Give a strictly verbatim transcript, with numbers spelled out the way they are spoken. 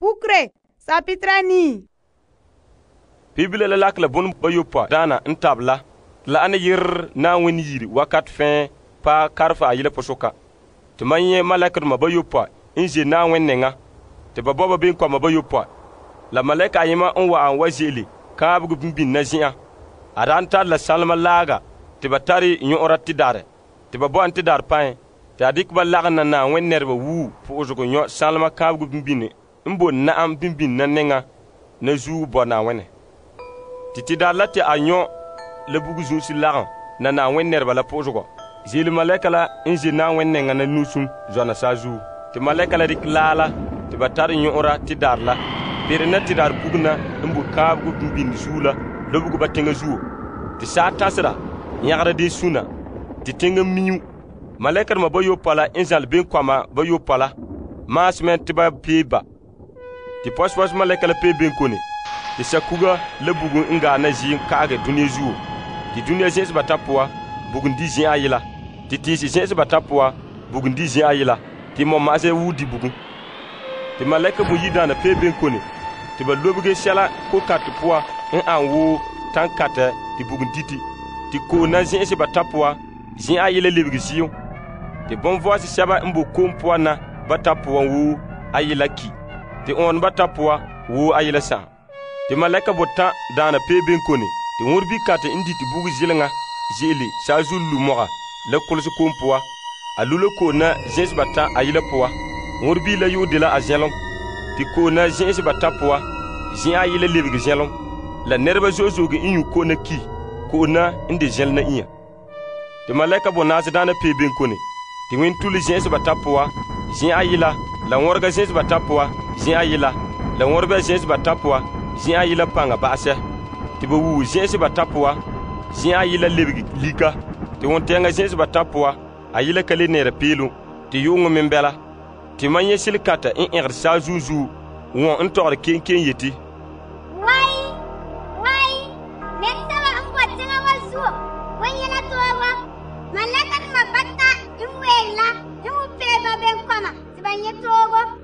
Pukre, sapitra nii. Biblia la lakla bon bayopa dana n tabla la ana yir na wani yiri wakat fɛn pa karfa ayila posoka. Te man nyɛ malɛkdoma bayopa n je na wen nenga te ba bɔba ben kɔma bayopa. La malɛka ayema n wa'an wa ze'ele kaabegɔ bimbin na zen'an. A daan tar la salema laaga te ba tare nyɔ'ɔra tidare te ba bɔ'an tidare pãe te a dikɛ ba lagom na na wen nɛreba wuu po'osegɔ nyɔ salema kaabegɔ bimbini n bo na'am bimbin na nenga na zuo bɔ na wene. Te tidare la te a nyɔ la bugu zuunsi lagom na na wen nɛreba la po'osegɔ. Zeele malɛka la n je na wen nenga na nusum zɔna saazuo. Te malɛka la dikɛ laa la te ba tare nyɔ'ɔra tidare la pere na tidare bugu na n bo kaabegɔ bimbin zuo la lobugo ba teŋa zuo. Te saa tasera yãgara de suna te teŋa miu. Malɛkadoma bayopa la n zãle benkɔma bayopa la maasmɛ te ba pee ba. Te pɔsepɔse malɛka la pee benkone te sakuga la bugum n gaa na ziim ka'age duniya zuo. Te duniya zẽ'se ba ta poa bugum di zẽ'a yela. Te tiisi zẽ'se ba ta poa bugum di zẽ'a yela. Te mɔma'asɛ wuu di bugum. Te malɛka boyidaana pee benkone te ba lobege sɛla ko-kate poa n an woo tan-katɛ te bugum diti. Te ko'om na zẽ'se ba ta poa zẽ'a yela lebege ziyo. Te bonvɔɔse sɛba n bo ko'om poan na ba ta poan woo a yela ki. Te ɔɔn ba ta poa woo a yela sãam. Te malɛka botan daana pee benkone te wõrbi kate n diti bugu zileŋa ze'ele saazu lu-mɔga la kolese ko'om poa. A lu la ko'om na zẽ'se ba ta a yela poa. Wõrbi la yoo de la a zɛlom. Te ko'om na zẽ'se ba ta poa zẽ'a yela lebege zɛlom. La nɛreba zo'e zo'e n yu ko'om na ki ko'om na n de zɛle na inya. Te malɛka bonaase daana pee benkone te ŋmentule zẽ'se ba ta poa zẽ'a yela la wɔrega zẽ'se ba ta poa zẽ'a yela la wɔrebɛ zẽ'se ba ta poa zẽ'a yela paŋa ba'asɛ. Te ba wuu zẽ'se ba ta poa zẽ'a yela lebege lika. Te wontɛɛŋa zẽ'se ba ta poa a yela ka le neera peelum. Te yu'uŋɔ me bɛla. Te man nyɛ selekata n ɛgere saazuo zuo wɔn n tɔgere kenken yeti. Wai, wai, nɛresɛba n bɔ teŋa wa zuo wan yɛla toogo. Malɛkadoma bata n ween la n wu pee ba benkɔma te ba nyɛ toogo.